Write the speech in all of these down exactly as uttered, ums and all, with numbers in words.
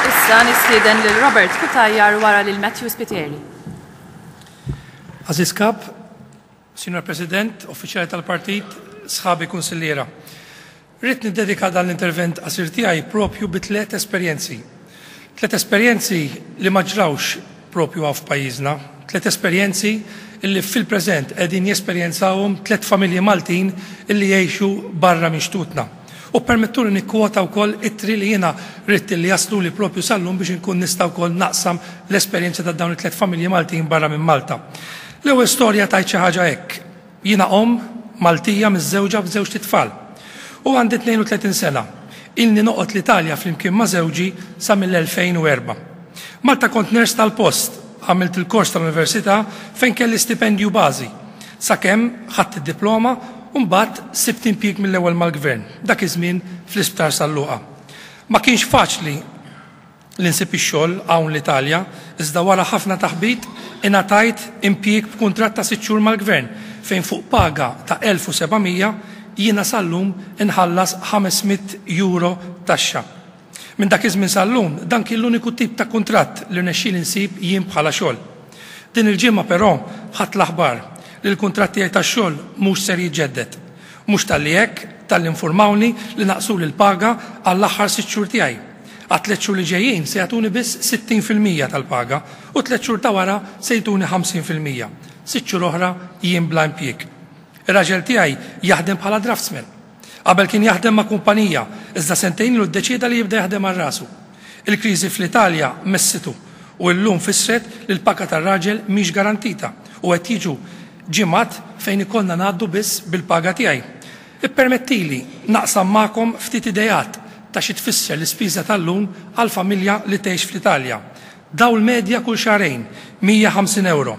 Issa nistieden lil Robert Cutajar wara lil Matthew Spiteri. Għażiż Kap, Signor President, uffiċjali tal-partit, sħabi kunsilliera. Ridt niddedika dan l-intervent qasir tiegħi propju bi tliet esperjenzi. Tliet esperjenzi li ma ġrawx propju hawn f'pajjiżna, tliet esperjenzi illi fil-preżent qegħdin jesperjenzawhom tliet familji Maltin illi jgħixu barra minn xtutna. U permettuli nikkwota wkoll ittri li jiena ridt li jaslu li propju sal-lum biex inkun nista' wkoll naqsam l-esperjenza ta' dawn it-tliet familji Maltin barra minn Malta. L-ewwel storja tgħid xi ħaġa hekk. Jiena omm Maltija miżżewġa b'żewġt itfal. U għandi tnejn u tletin sena. Ilni noqgħod l-Italja flimkien ma' żewġi sa mill-elfejn u erbgħa. Malta kont nurse tal-post, għamilt il-kors tal-università fejn kelli stipendju bażi. Sakemm ħadt id-diploma u mbagħad sibt impjieg mill-ewwel mal-gvern, dak iż-żmien fl-Isptar San Luqa. Ma kienx faċli li nsib ix-xogħol hawn l-Italja, iżda wara ħafna taħbit ingħatajt impjieg b'kuntratt ta' sitt xhur mal-gvern fejn fuq paga ta' elf u seba' mija jiena sal-lum inħallas ħames mitt euro taxxa. Minn dak iż-żmien sal-lum dan kien l-uniku tip ta' kuntratt li rnexxieli nsib jien bħala xogħol. Din il-ġimgħa però ħadt l-aħbar li l-kuntratt tiegħi tax-xogħol mhux ser jiġġedded. Mhux talli hekk, talli informawni li naqsuli l-paga għall-aħħar sitt xhur tiegħi. Għat tliet xhur li ġejjin se jagħtuni biss sittin fil-mija tal-paga u tliet xhur ta' wara se jtuni ħamsin fil-mija. Sitt xhur oħra jien bla impjieg. Ir-raġel tiegħi jaħdem bħala draftsman. Qabel kien jaħdem ma' kumpanija, iżda sentejn ilu ddeċieda li jibda jaħdem għal rasu. Il-kriżi fl-Italja messitu u llum fissret li l-paga tar-raġel mhix garantita u qed jiġu ġimgħat fejn ikollna ngħaddu biss bil-paga tiegħi. Ippermettili naqsam magħkom ftit ideat ta' xi tfisser l-ispiża tal-lum għal familja li tgħix fl-Italja. Dawl medja kull xahrejn, mija u ħamsin euro.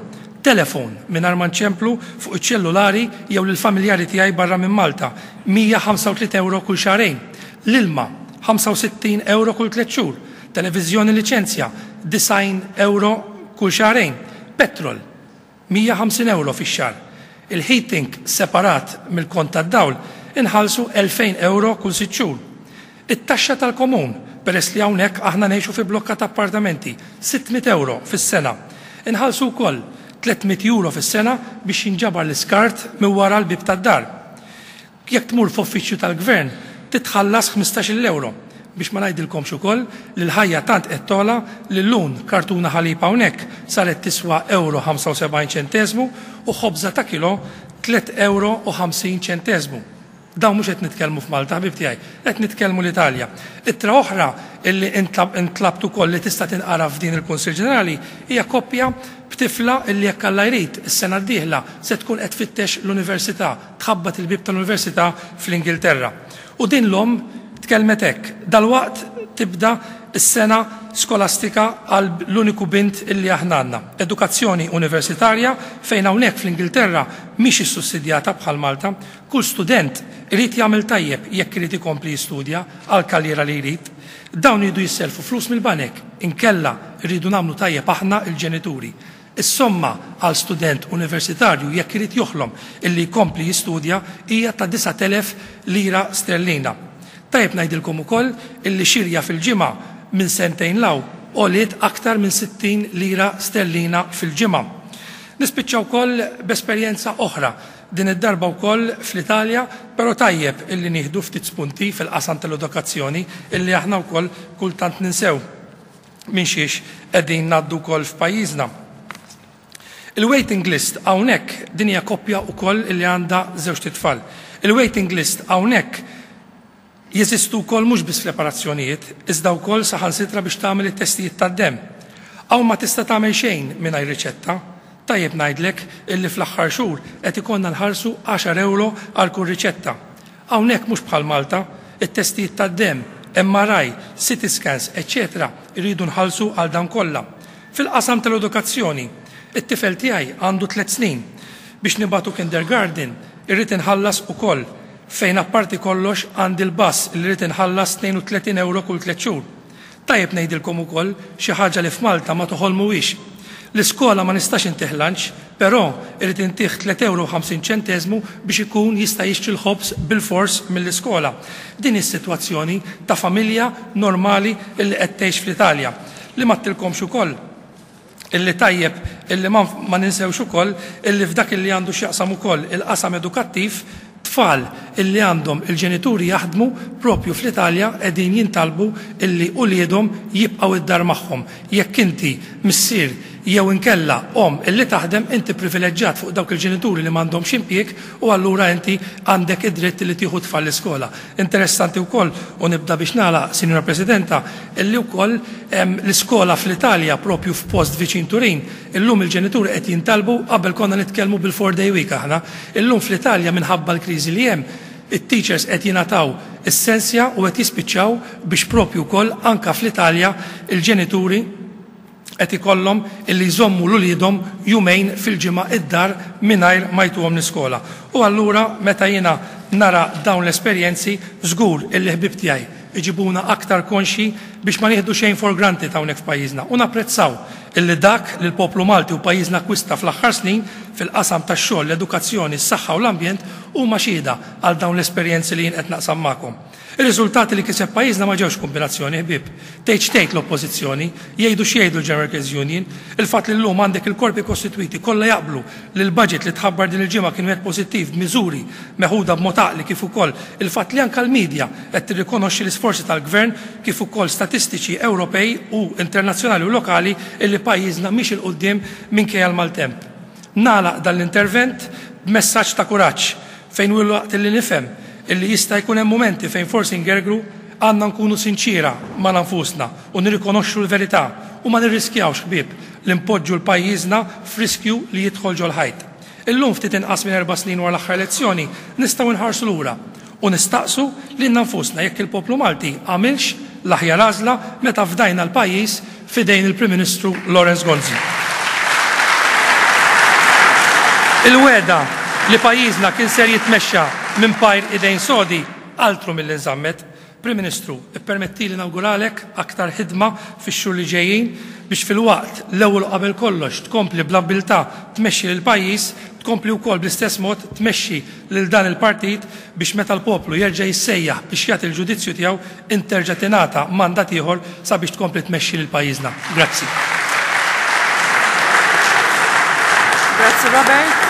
Telefon mingħajr ma nċemplu fuq iċ-ċellulari jew lill-familjari tiegħi barra minn Malta, mija u ħamsa u tletin euro kull xahrejn. L-ilma, ħamsa u sittin euro kull tliet xhur. Televiżjoni liċenzja, disgħin euro kull xahrejn. Petrol, mija u ħamsin euro fix-xahar. Il-heating separat mill-kont tad-dawl inħallsu elfejn euro kull sitt xhur. It-taxxa tal-komun, peress li hawnhekk aħna ngħixu fi blokka ta' appartamenti, sitt mitt euro fis-sena. Inħallsu wkoll tliet mitt euro fis-sena biex jinġabar l-iskart minn wara l-bib tad-dar. Jekk tmur f'uffiċċju tal-gvern, titħallas ħmistax-il euro. Biex ma ngħidilkomx ukoll li l-ħajja tant qed togħla li llum kartuna ħalib hawnhekk saret tiswa euro ħamsa u sebgħin ċenteżmu u ħobża ta' kilo tliet euro u ħamsin ċenteżmu. Dawn mhux qed nitkellmu f'Malta, ħbib tiegħi, qed nitkellmu l-Italja. Ittra oħra illi intlabt ukoll li tista' tinqara f'din il-Kunsill Ġenerali hija koppja b'tifla illi, jekk Alla jrid, is-sena d-dieħla se tkun qed tfittex l-università, tħabbat il-bib tal-università fl-Ingilterra. U din l-omm tkellmet hekk: "Dalwaqt tibda s-sena skolastika għal l-uniku bint illi aħna għandna. Edukazzjoni universitarja fejn hawnhekk fl-Ingilterra mhix issussidjata bħal Malta. Kull student irid jagħmel tajjeb jekk irid ikompli jistudja għal karriera li jrid. Dawn iridu jisselfu flus mill-banek, inkella rridu nagħmlu tajjeb aħna il-ġenituri. Is-somma għal student universitarju jekk irid joħlom illi jkompli jistudja hija ta' disa' t'elef lira sterlina. Tajjeb ngħidilkom ukoll illi xirja fil-ġimgħa minn sentejn 'l hawn għoliet aktar minn sittin lira sterlina fil-ġimgħa." Nispiċċa wkoll b'esperjenza oħra, din id-darba wkoll fl-Italja, però tajjeb illi nieħdu ftit spunti fil-qasam tal-edukazzjoni illi aħna wkoll kultant ninsew minn xiex qegħdin ngħaddu wkoll f'pajjiżna. Il-waiting list hawnhekk, din hija koppja wkoll illi għandha żewġt itfal. Il-waiting list hawnhekk jeżistu wkoll mhux biss fl-operazzjonijiet, iżda wkoll saħansitra biex tagħmel it-testijiet tad-demm. Hawn ma tista' tagħmel xejn mingħajr riċetta. Tajjeb ngħidlek illi fl-aħħar xhur qed ikollna nħallsu għaxar euro għal kull riċetta. Hawnhekk mhux bħal Malta, it-testijiet tad-demm, M R I, C T scans, eċċetera irridu nħallsu għal dan kollha. Fil-qasam tal-edukazzjoni, it-tifel tiegħi għandu tliet snin. Biex nibagħtu kindergarten, irrid inħallas ukoll, fejn apparti kollox għandi l-bus li rrid inħallas tnejn u tletin euro kull tliet xhur. Tajjeb ngħidilkom ukoll xi ħaġa li f'Malta ma toħolmuhiex. L-iskola ma nistax intih lunch, però irrid intih tliet ewro u ħamsin ċenteżmu biex ikun jista' jixtri l-ħobż bil-fors mill-iskola. Din is-sitwazzjoni ta' familja normali illi qed tgħix fl-Italja. Li ma għedtilkomx ukoll illi tajjeb illi ma, ma ninsewx ukoll illi f'dak illi għandu x'jaqsam ukoll il-qasam edukattiv, tfal illi għandhom il-ġenituri jaħdmu propju fl-Italja qegħdin jintalbu illi uliedhom jibqgħu id-dar magħhom. Jekk inti missier jew inkella om illi taħdem, inti privileġġjat fuq dawk il-ġenituri li m'għandhomx impjieg u allura inti għandek id-dritt li tieħu tfal l-iskola. Interessanti wkoll, u nibda biex nagħlaq, Sinjora Presidenta, illi wkoll l-iskola fl-Italja propju f'post viċin Turin, illum il-ġenituri qed jintalbu, qabel konna nitkellmu bil-four day week aħna, illum fl-Italja minħabba l-kriżi li hemm, it-teachers qed jingħataw is-sensja u qed jispiċċaw biex propju wkoll anka fl-Italja il-ġenituri qed ikollhom illi jżommu l-uliedhom jumejn fil-ġimgħa id-dar mingħajr ma jtuhom l-iskola. U allura meta jiena nara dawn l-esperjenzi, żgur illi ħbib tiegħi iġibuna aktar konxi biex ma nieħdu xejn for granted hawnhekk f'pajjiżna u napprezzaw illi dak li l-poplu Malti u pajjiżna akkwista fl-aħħar snin fil-qasam tax-xogħol, l-edukazzjoni, s-saħħa u l-ambjent huma xhieda għal dawn l-esperjenzi li jien qed naqsam magħkom. Ir-riżultati li kiseb pajjiżna ma ġewx kombinazzjoni ħbieb. Tgħid x'tgħid l-oppożizzjoni, jgħidu x'jgħidu l-General Workers Union, il-fatt li llum għandek il-korpi kostitwiti kollha jaqblu li l-budget li tħabbar din il-ġimgħa kien wieħed pożittiv b'miżuri meħuda b'mod għaqli, kif ukoll il-fatt li anke l-medja qed tirrikonoxxi l-isforzi tal-gvern kif ukoll statistiċi Ewropej u internazzjonali u lokali illi pajjiżna mhix il quddiem minkejja l-maltemp. Nagħlaq dan l-intervent b'messaġġ ta' kuraġġ fejn waqt li nifhem illi jista' jkun hemm mumenti fejn forsi ngergru, għandna nkunu sinċira ma' nfusna u nirrikonoxxu l-verità u ma nirriskjawx ħbieb li npoġġu l-pajjiżna f'riskju li jidħol ġol-ħajt. Illum ftit inqas minn erba' snin wara l-aħħar elezzjoni nistgħu nħarsu lura u nistaqsu lilna nfusna jekk il-poplu Malti għamilx l-aħjar għażla meta fdajna l-pajjiż f'idejn il-Prim Ministru Lawrence Gonzi. Il-wegħda li pajjiżna kien ser jitmexxa minn pajr idejn sodi altru mill-li nżammet. Prim Ministru, ippermettili nawguralek aktar ħidma fix-xhur li ġejjin biex fil-waqt l-ewwel qabel kollox tkompli bl-abbiltà tmexxi lil pajjiż, tkompli wkoll bl-istess mod tmexxi lil dan il-partit biex meta l-poplu jerġa' jissejjaħ biex jagħti l-ġudizzju tiegħu interġa' tingħata mandat ieħor sabiex tkompli tmexxi lil pajjiżna. Grazzi. Grazzi Robert.